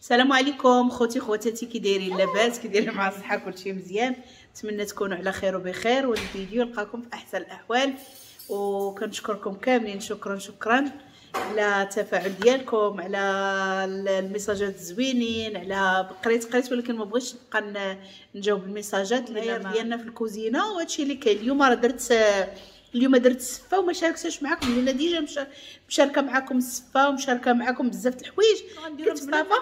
السلام عليكم خوتي خواتاتي، كي دايرين؟ لاباس؟ كي دايرين مع الصحة؟ كلشي مزيان؟ نتمنى تكونوا على خير وبخير، والفيديو يلقاكم في احسن الاحوال. وكنشكركم كاملين، شكرا شكرا على التفاعل ديالكم، على الميساجات الزوينين، على قريت ولكن ما بغيتش نبقى نجاوب الميساجات اللي ديالنا في الكوزينة. وهادشي اللي كاين اليوم. راه درت اليوم درت السفه وما شاركتهاش معكم، لان déjà مشاركة معكم السفه ومشاركة معكم بزاف د الحوايج. غنديروا مصطفى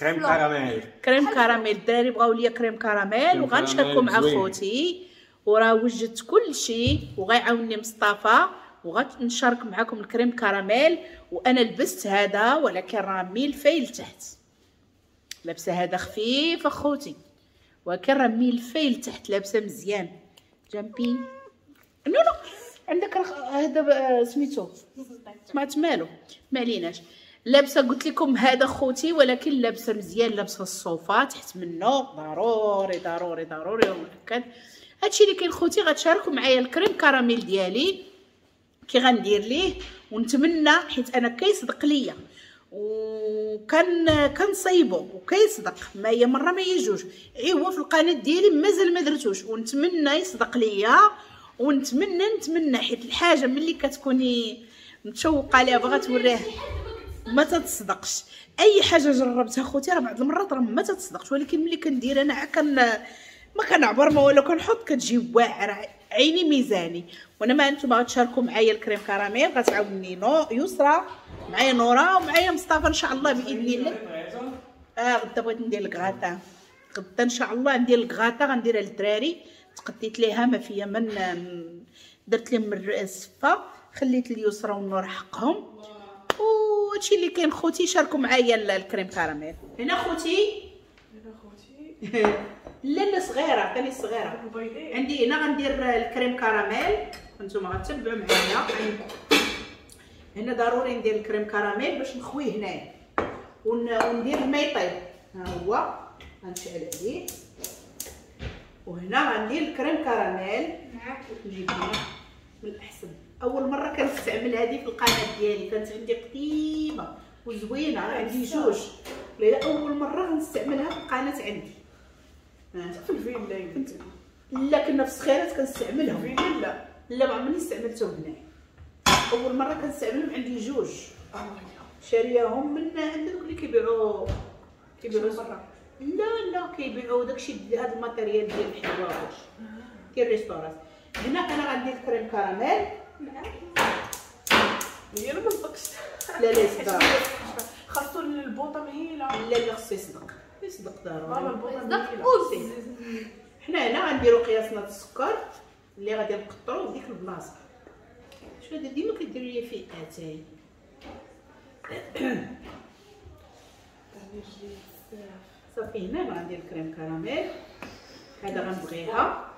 crème caramel، crème caramel. الدراري بغاو ليا crème caramel وغنشاركو مع خوتي، وراه وجدت كل شيء وغيعاونني مصطفى وغنشارك معكم ال crème caramel. وانا لبست هذا ولكن راه ميلفاي لتحت، لابسه هذا خفيف اخوتي، ولكن راه ميلفاي لتحت، لابسه مزيان. جامبي no no عندك هذا سميتو سمعت مالو، ما عليناش. لابسه قلت لكم هذا خوتي، ولكن لابسه مزيان، لابسه الصوفه تحت منه، ضروري ضروري ضروري ومؤكد. هادشي اللي كاين خوتي. غتشاركوا معايا ال crème caramel ديالي كي غندير ليه، ونتمنى حيت انا كيصدق ليا وكان كنصايبو وكيصدق، ما هي مرة ما هي جوج، ايوا في القناة ديالي مازال ما درتوش، ونتمنى يصدق ليا. ونتمنى نتمنى حيت الحاجة ملي كتكوني متشوقة ليها باغا توريها ما تتصدقش. اي حاجة جربتها خوتي راه بعض المرات راه ما تتصدقش، ولكن ملي كندير انا كن ما كنعبر ما والو، كنحط كتجي واعرة عيني ميزاني. وانا ما انتم غتشاركوا معايا ال crème caramel، غتعاوني نو يسرى معايا نورا ومعايا مصطفى ان شاء الله باذن الله. غدا بغيت ندير الكغاطا، غدا ان شاء الله ندير الكغاطا، غنديرها للدراري. تقديت ليها ما فيا من درت لهم السفه، خليت اليسرى والنور حقهم. وهادشي اللي كاين خوتي، شاركوا معايا ال crème caramel. هنا خوتي، هنا خوتي لا لا صغيرة، عطيني الصغيرة عندي. هنا غندير ال crème caramel، نتوما غتبعوا معايا. هنا ضروري ندير ال crème caramel باش نخويه هنايا وندير الماء يطيب. ها هو غنشعل عليه، وهنا غندير ال crème caramel. نجيب هنا من الاحسن. اول مرة كنستعمل هذه في القناة ديالي، كانت عندي قديمة وزوينه، عندي جوج، لا اول مرة غنستعملها في القناة عندي. في الفيلا كنت لا كنا في الصخيرات كنستعملهم. فيلا لا ما عمرني استعملتهم هنا، اول مرة كنستعملهم. عندي جوج شارياهم من عند دوك اللي كيبيعوا برا. لا لا كيبيعوا داكشي هذا ال matériel ديال الحلوى ديال ال restaurant. هنا انا غندير crème caramel. هي ما صدقش. لا لا يصدق، خاصو البوطه مهيله. لا لا خصو يصدق، يصدق ضروري يصدق. حنا هنا غنديرو قياسنا السكر اللي غادي نقطرو في ديك البلاصة. شنو هذا ديما كديروا لي فيه اتاي. صافي هنا غندير ال crème caramel، هذا غنبغيها.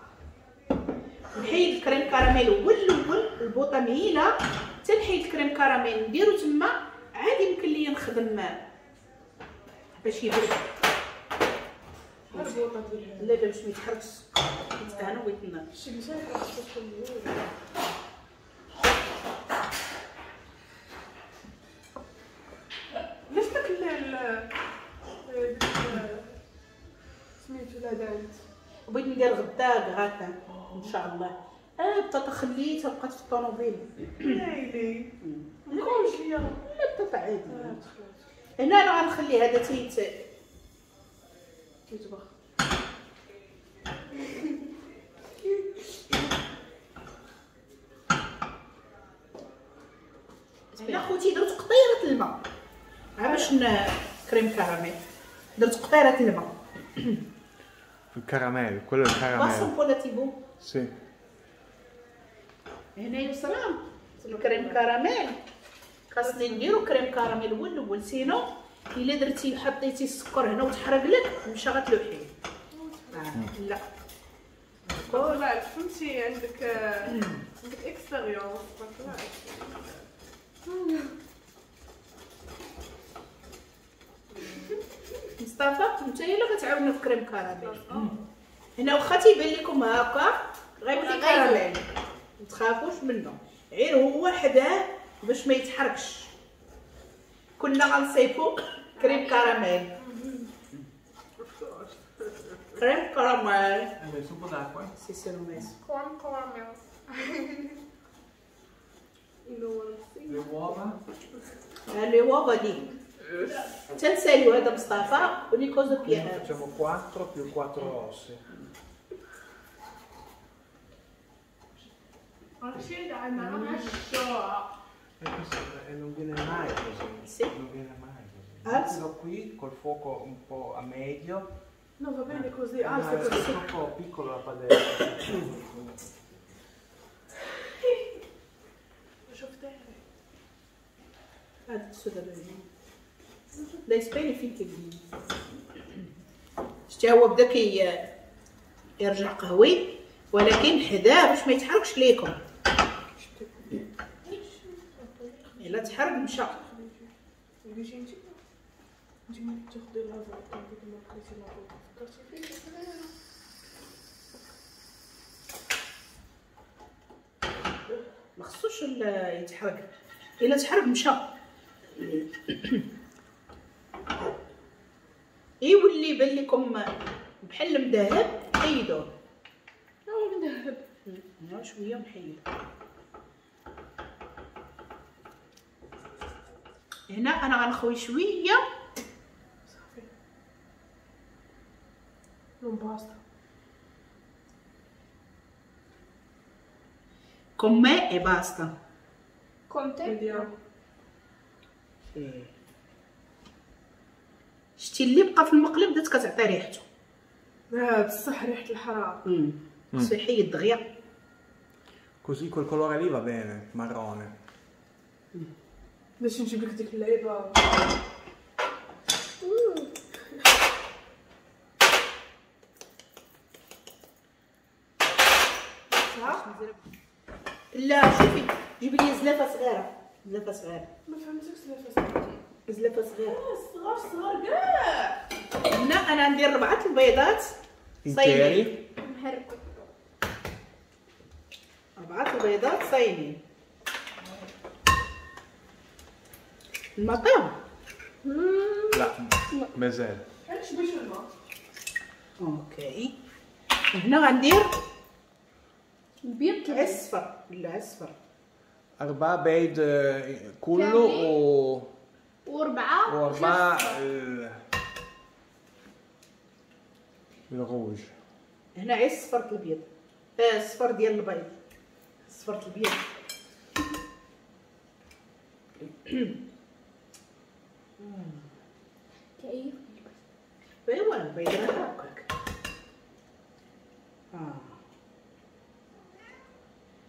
نحيد ال crème caramel هو الاول، البوطه مهيله حتى نحيد ال crème caramel نديرو تما، عادي يمكن ليا نخدم باش يبرد. لا لا باش ما يتحرقش السكر، حيت انا بغيت علاش داك سميتو لا دانت. بغيت ندير غدا غاتا ان شاء الله. بطاطا خليتها بقات في الطوموبيل. ويلي نكونش ليا. لا بطاطا عادي. هنا انا غنخلي هذا تيطبخ. هنا خوتي درت قطيره الماء باش crème caramel، درت قطيره الماء. الكراميل كله الكراميل. basta un po' la TV. Sì. هنا يسرى ال crème caramel، خاصني نديرو crème caramel هو الاول، sinon الا درتي حطيتي السكر هنا وتحرق لك مشى غتلوحيه. لا لا فهمتي، عندك expérience. مصطفى انت الا غتعاوننا في crème caramel. هنا واخا تيبان لكم هكا غيولي كراميل، ما تخافوش منه، غير هو حداه باش ما يتحركش. كنا غنصيفو crème caramel. Crème caramel. Hai messo un po' d'acqua? Sì, sì, l'ho messo. Crème caramel. Le uova? Le uova lì. تنساليو هذا مصطفى ogni cosa piena. Facciamo 4 più 4 rossi. E non viene mai così. Sì. Non viene mai così. Mettilo qui col fuoco un po' a medio. No, va bene così. Alza è così. Troppo piccola la padella. Adesso da bene. لا يسبيني فين كيبني. شتي هو بدا كي يرجع قهوي، ولكن حذاه باش ما يتحركش ليكم. الا تحرك مشى. ما خصوش يتحرك، الا تحرك مشى. يولي يبان لكم بحال المذهب حيدوه. هو مذهب شوية ونحيدو. هنا انا غنخوي شوية صافي. Non basta. Con me e basta. Con te? Vediamo. Sì. شتي اللي بقى في المقلب بدات كتعطي ريحته. بصح ريحه الحرارة. خصو يحيد دغيا. Così quel colore lì va bene, marrone. باش نجيب لك ديك اللعيبة. لا شوفي جيبي لي زلافه صغيرة، زلافه صغيرة. ما فهمتكش زلافه صغيرة. زلافه صغيرة. صغار صغار كاع. هنا انا عندي 4 البيضات صايمين. مهركو. 4 البيضات صايمين. المطيب؟ لا مازال. علاش باش الماء؟ okay. هنا غندير البيض الصفر. لا الصفر. 4 بيض كله وأربعة الروج. هنا غير الصفر البيض، الصفر ديال البيض، الصفر البيض. كيف؟ ايوا البيض راه هكاك.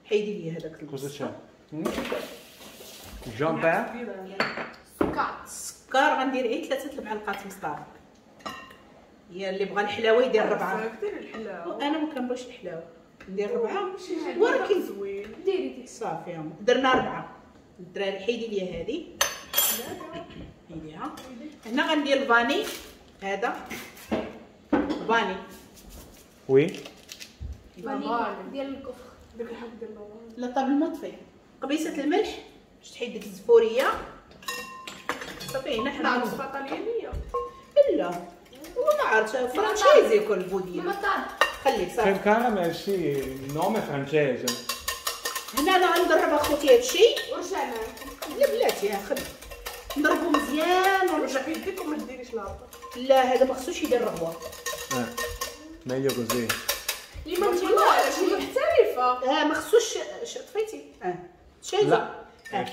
حيدي لي هذاك. Cosa c'è? Jean-Pierre? سكر. السكر غندير غير 3 المعلقات مصطفى. هي اللي بغى الحلاوة يدير 4. ديري الحلاوة. انا ما كنبغيش الحلاوة، ندير 4 ولكن زوين. ديري ديك صافي. درنا 4. الدراري حيدي لي هذه، حيديها. هنا غندير ال vanille، هذا vanille. oui vanille ديال الكفر، ديك الحب ديال لا طاب المطفي. قبيصه الملح باش تحيد ديك الزفوريه. صافي هنا حنا وصفه طليانيه. لا هو ما عرفتش francese ياكل ال budino. خليه صافي. Crème caramel sì, il nome è francese. هنا انا غنضرب اخوتي هادشي ورجع معاكم. لا بلاتي خلي نضربو مزيان ونرجع. يديك وما ديريش لاطه. لا هذا ما خصوش يدير رغوه. Meglio così. اللي ما تقولش محترفه. ما خصوش. طفيتي؟ شايفه؟ لا.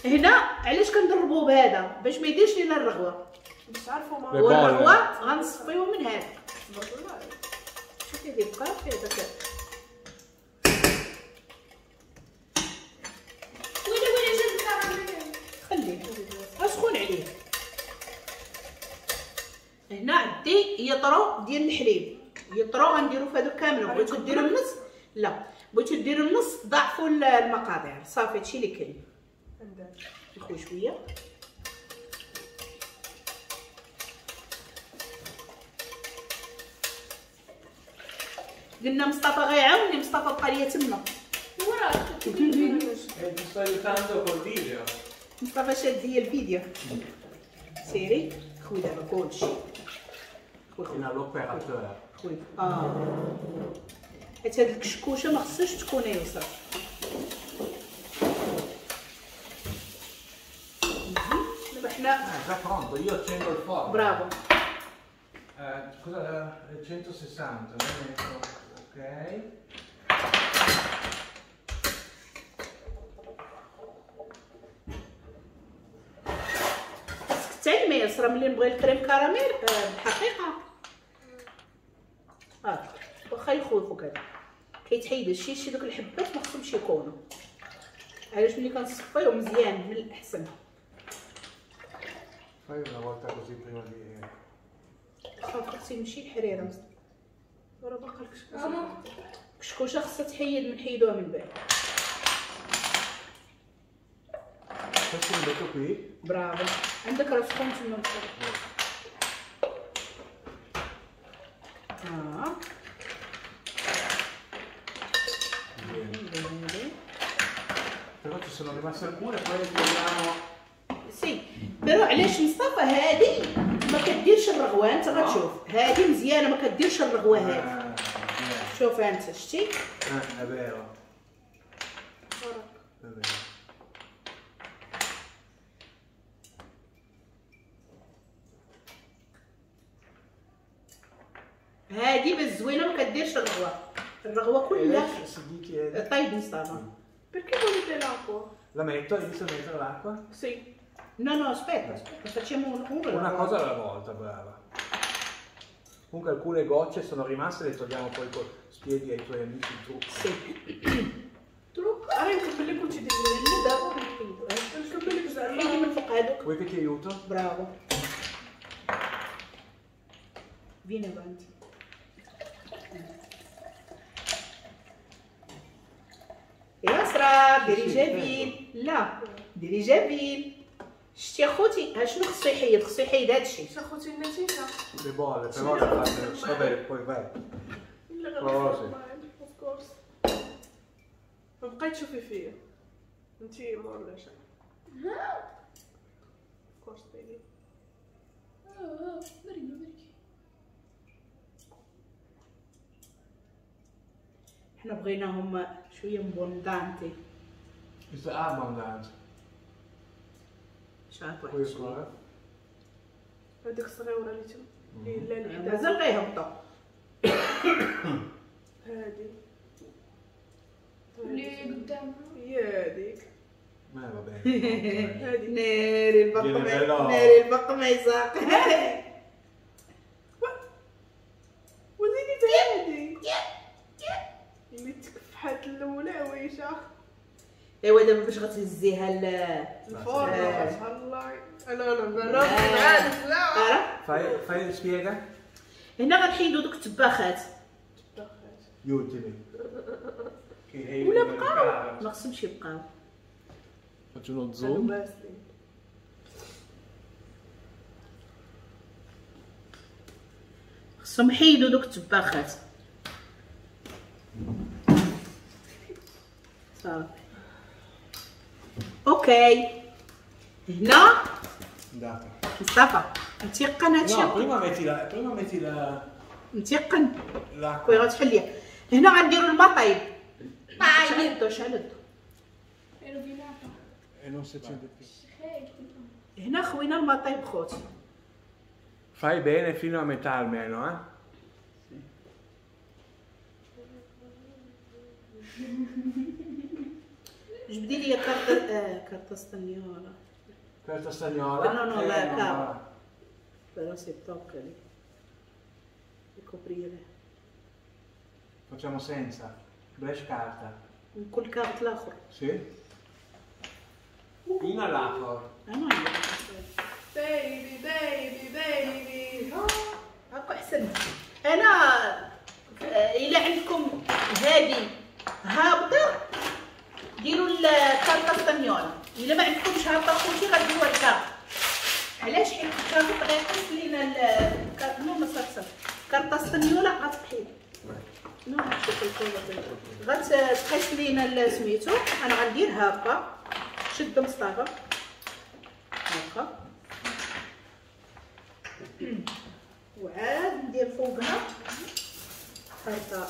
هنا علاش كنضربوه بهذا؟ باش ما يديرش لينا الرغوه. باش تعرفوا ما والرغوه غنصفيو من هذا. شوفي اللي بقى في هذاك. ويلي ويلي جاب الكراميل. خليه اسخن عليه. هنا عندي يطرو ديال الحليب، يطرو غنديرو في هادو كاملين. بغيتو ديرو النص؟ لا بغيتو ديرو النص ضاعفوا المقادير. صافي هادشي اللي كاين. نخوي شوية. قلنا مصطفى غيعاوني، مصطفى بقى ليا تما. مصطفى شاد ليا الفيديو. سيري خوي دابا كلشي، خوي Fino all'operatore. خوي حيت هاد الكشكوشه ما خصهاش تكون يسرى. دابا حنا È già pronto, io accendo il forno. برافو. Cosa 160, lo metto, ok. خصك تعلمي يسرى ملي نبغي ال crème caramel بالحقيقة واخا يخوفو كذا كيتحيد هادشي شي دوك الحبات ما خصهمش يكونوا. علاش ملي كنصفيو مزيان من الاحسن. Fai una volta così prima di صافي خصي نمشي الحريره. راه باقا الكشكوشه. الكشكوشه خصها تحيد نحيدوها من بعد. Questo lo metto qui. برافو. عندك راه سخون تما. Bene. Però ci sono rimaste alcune, poi le togliamo. Sì, però علاش مصطفى هادي ما كديرش الرغوه؟ انت غتشوف هادي مزيانه ما كديرش الرغوه هادي. شوف انت شتي؟ È vero. È vero. هادي بس زوينة ما كديرش الرغوه. الرغوه كلها طيب مصطفى. Perché volete l'acqua? La metto, inizio a mettere l'acqua? Sì. No, no, aspetta, aspetta, facciamo una cosa alla volta, brava. Comunque alcune gocce sono rimaste, le togliamo poi, spieghi ai tuoi amici il trucco. Sì. Trucco? Ah, نكمل لك وانت ديري. نكمل لك زعما. حيدي من فوق هذوك. Vuoi che ti aiuto? Bravo. Vieni avanti. يا سرا ديري جافيل. لا ديري جافيل. شتي اخوتي ها شنو خصو يحيد؟ خصو يحيد هادشي. شتي اخوتي النتيجة le bolle però le fate vabbè poi vai. Of course. ما بقيت تشوفي فيا انتي مور شي. Of course baby. حنا بغيناهم شوية abbondanti. Questo è abbondante. شاط واحد شوية. هذيك الصغيرة اللي تم اللي لا اللي مازال غيهبطوا. هادي اللي قدامها هي هذيك. ما va bene. هادي ناري البقمه، ناري البقمه يساق. وزيدي هادي اللي تكفحات الاولى عويشه. ايوا دابا باش غتهزيها الفرن الله. انا انا عارف لا. Fai spiega. هنا غنحيدو دوك الطباخات. الطباخات gli ultimi ولا بقاو ما خصهمش يبقاو. Faccio uno zoom. خصهم يحيدو دوك الطباخات. صافي okay. هنا مصطفى متيقن هادشي؟ No, prima metti la prima metti la متيقن كوي غتحليها. هنا غنديرو الماء طايب. شعل الضو، شعل الضو. هنا خوينا الماء طايب خوت. Fai bene fino a metà almeno, eh? جبدي لي carta carta stagnola. Carta stagnola? No, no, la carta. Però si tocca lì. E coprire. Facciamo senza. بلاش carta. كل carte الاخر. Sì. Fino all'altro. انا baby baby baby. هاكا احسن. انا الا عندكم هادي هابطة ديروا ال carta stagnola. الا ما عندكمش هابطة خوتي غديروها ال carte. علاش؟ حيت ال carte غيقيس لينا no ما صافي carta stagnola غتحيد. no شوف الكولا غتقيس لينا سميتو. انا غندير هاكا. شد مصطفى هاكا وعاد ندير فوقها طرطه.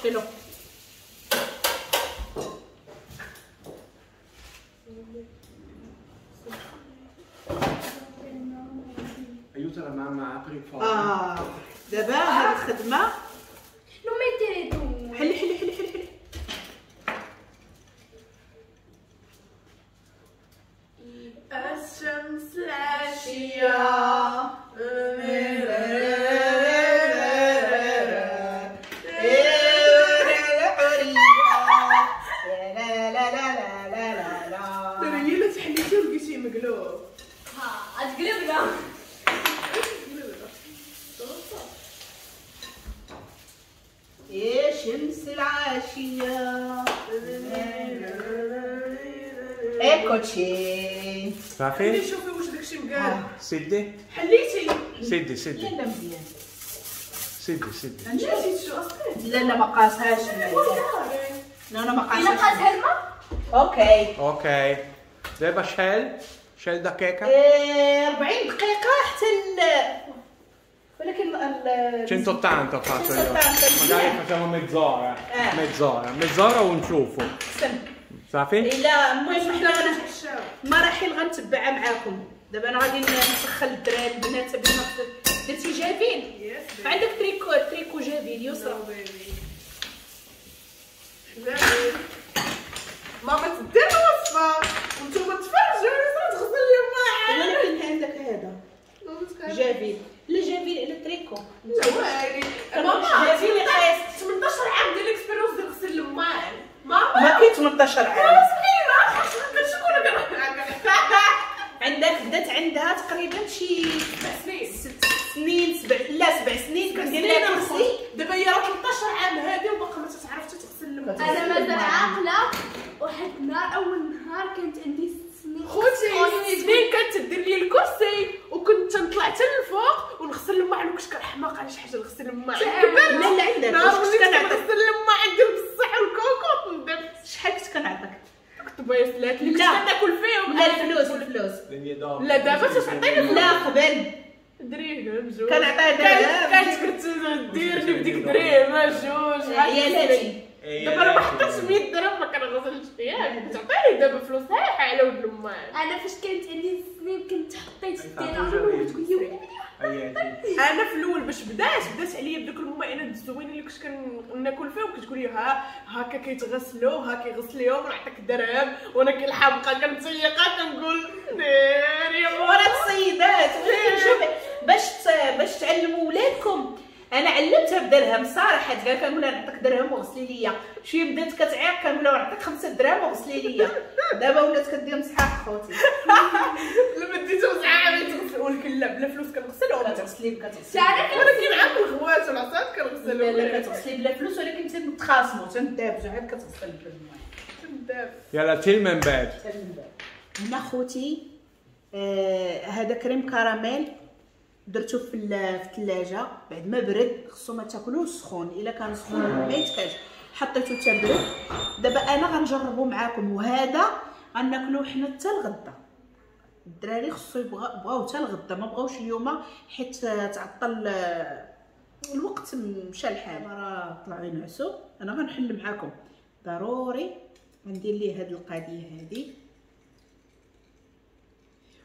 Ce l'ho. Aiuta la mamma a aprire il forno. دابا هاد الخدمة. Non mettere tu. حلي حلي حلي حلي حلي. الشمس العشية. مقلوب. ها تقلبنا. يا شمس العاشية. Eccoci. صافي؟ شوفي واش داكشي مقال. سدي. حليتي. سدي سدي. لا لا مزيان. سدي سدي. نسيت شو اصلا؟ لا لا ما قاسهاش. لا لا ما قاسهاش. الا قاسها الماء؟ OK. OK. دابا شحال؟ شحال دقيقة؟ 40 دقيقة حتى ولكن 180 ho fatto io. Magari facciamo mezz'ora. Mezz'ora, mezz'ora ونشوفوا. احسن. صافي؟ الا المهم حنا مراحل غنتبعها معاكم. دابا انا غادي نسخن الدراري البنات بما درتي جافيل؟ عندك tricot جافيل يسرا. ماما تدير الوصفة وانتم تفرجوا يسرا تغسل لي الماعن. ولكن عندك هذا جافيل. لا جافيل على تريكو. لا والي ماما جافيل قايس 18 عام ديال l'expérience ديال غسل الماعن. ماما ما كاين 18 عام. شكون عندك بدات عندها تقريبا شي 7 سنين 6 سنين 7 لا 7 سنين كندير لها كرسي. دابا هي راه 13 عام هادي وباقا ما تتعرف تغسل الماعن. انا مازال عاقلة. واحد النهار اول نهار كانت عندي 6 سنين خوتي سنين كانت دير لي الكرسي وكنت نطلع حتى للفوق ونغسل الماعن وكنت كنحماق على شي حاجة نغسل الماعن. لا لا عندك واش كنغسل الماعن ديال بصح والكوكوط ندمت. شحال كنت كنعطيك؟ كنت بايسلات اللي كنت كناكل فيهم. لا الفلوس الفلوس. لا دابا تتعطيني فلوس. لا قبل دريهم جوج كنعطيها درهم. كانت كديرني بديك دريهم جوج عيالاتي. دابا انا ما حطيتش 100 درهم ما كنغسلش فيها. تعطيني دابا فلوس صحيحه على ود الماعن. انا فاش كانت عندي سنين كنت حطيت الدرهم وتقول لي ويلي. انا في الاول باش بدات عليا بدوك الماعنات الزوينين اللي كنت كناكل فيهم كتقول لي ها هكا كيتغسلوا ها كيغسليهم ونعطيك درهم وانا كالحمقه كنتيقه كنقول ناري ورا السيدات. ولكن شوفي باش تعلموا ولادكم. انا علمتها بدرهم صراحة، قال كنقول لها نعطيك درهم وغسلي ليا. شوية بدات كتعيق كنقول لها نعطيك 5 دراهم وغسلي ليا. دابا ولات كدير مسحاق خوتي. لما ديتو مسحاق تغسل ولكن لا بلا فلوس كنغسل ولا كتغسلي كتغسلي. ولكن عاد الغوات والعصا كنغسل. لا لا كتغسلي بلا فلوس ولكن تنتخاصموا تندابزوا عاد كتغسل بلا تندابز. يلا تيل من بعد. هنا خوتي هذا crème caramel درتو في الثلاجة بعد ما برد. خصو ما تاكلوش سخون، الا كان سخون ما يتكاش. حطيتو حتى برد. دابا انا غنجربو معاكم وهذا غناكلو حنا حتى الغدا. الدراري خصو بغاو حتى الغدا، ما بغاوش اليوم حيت تعطل الوقت مشى الحال. راه طلعوا ينعسوا. انا غنحل معاكم ضروري غندير ليه هاد القضية هادي.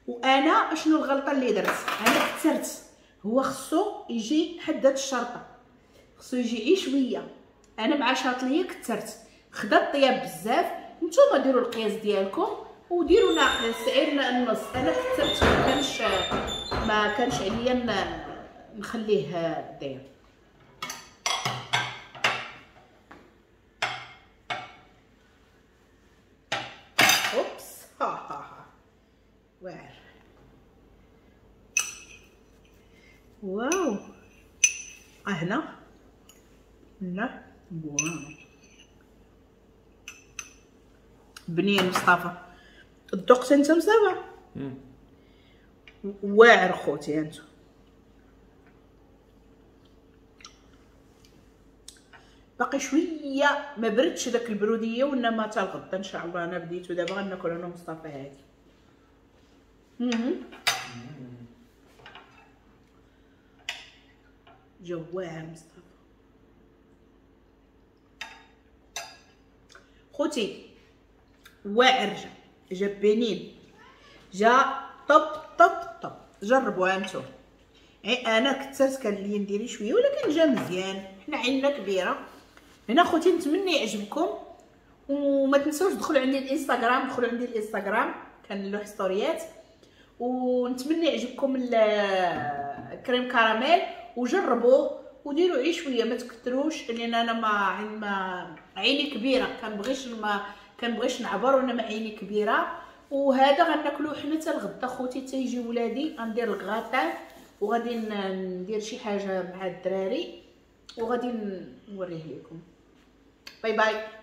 وانا اشنو الغلطة اللي درت؟ انا كثرت. هو خصو يجي حد هاد الشرطة، خصو يجي عي شوية. انا مع شاطليه كثرت، خدا الطياب بزاف. نتوما ديروا القياس ديالكم وديروا ناقص غير النص. انا كثرت ما كانش عليا نخليه داير. Oups ها ها ها واعر. واو هنا لا واو بنين مصطفى. الذوق انت مصطفى واعر خوتي انتو. باقي شوية ما بردش داك البروديه، وانما حتى الغدا ان شاء الله. انا بديتو دابا غناكل انا ومصطفى هادي. جواع مصطفى. خوتي واعر جا بنين، جا top top top. جربوها انتم. انا كثرت كان لي نديري شوية ولكن جا مزيان، حنا عيننا كبيرة هنا. خوتي نتمنى يعجبكم، وما تنسوش دخلوا عندي الانستغرام، دخلوا عندي الانستغرام كنلوح ستوريات. ونتمنى يعجبكم ال crème caramel، وجربوه وديروا عي شوية ما تكثروش، لان انا ما عيني كبيرة كنبغيش نعبر، وانا ما عيني كبيرة. وهذا غناكلوه حنا حتى الغدا خوتي، حتى يجي ولادي غندير الكغاتان وغادي ندير شي حاجة مع الدراري وغادي نوريه لكم. bye bye.